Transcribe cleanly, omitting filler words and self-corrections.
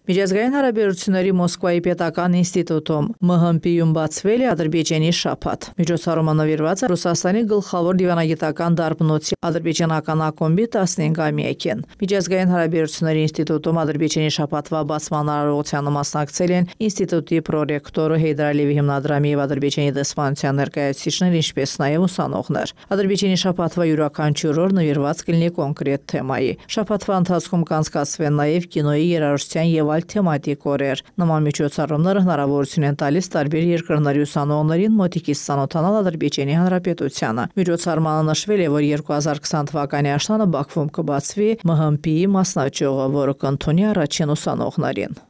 Միջազգային հարաբերությունների Մոսկվայի պետական ինստիտուտում ՄՀՄՊ-ում բացվել է Ադրբեջանի շաբաթ։ Միջոցառումը նվիրված է Ռուսաստանի գլխավոր դիվանագիտական դարբնոցի ադրբեջանական ակումբի 15-ամյակին։ Միջազգային հարաբերությունների ինստիտուտում Ադրբեջանի շաբաթվա բացման արարողությանը մասնակցել են ինստիտուտի պրոռեկտորը Հեյդար Ալիևի հիմնադրամի և Ադրբեջանի դեսպանության ներկայացուցիչներ, ինչպես նաև ուսանողներ։ Ադրբեջանի շաբաթվա յուրաքանչյուր օր նվիրված կլինի կոնկրետ թեմայի։ Շաբաթվա ընթացքում կանցկացվեն նաև կինոյի, երաժշտության և այլ թեմատիկ օրեր։ Նման միջոցառումները հնարավորություն են տալիս տարբեր երկրների ուսանողներին մոտիկից ծանոթանալ Ադրբեջանի Հանրապետությանը։ Միջոցառմանը նշվել է, որ 2020 թվականի աշնանը Բաքվում կբացվի ՄՀՄՊ-ի մասնաճյուղը, որը կընդունի առաջին ուսանողներին։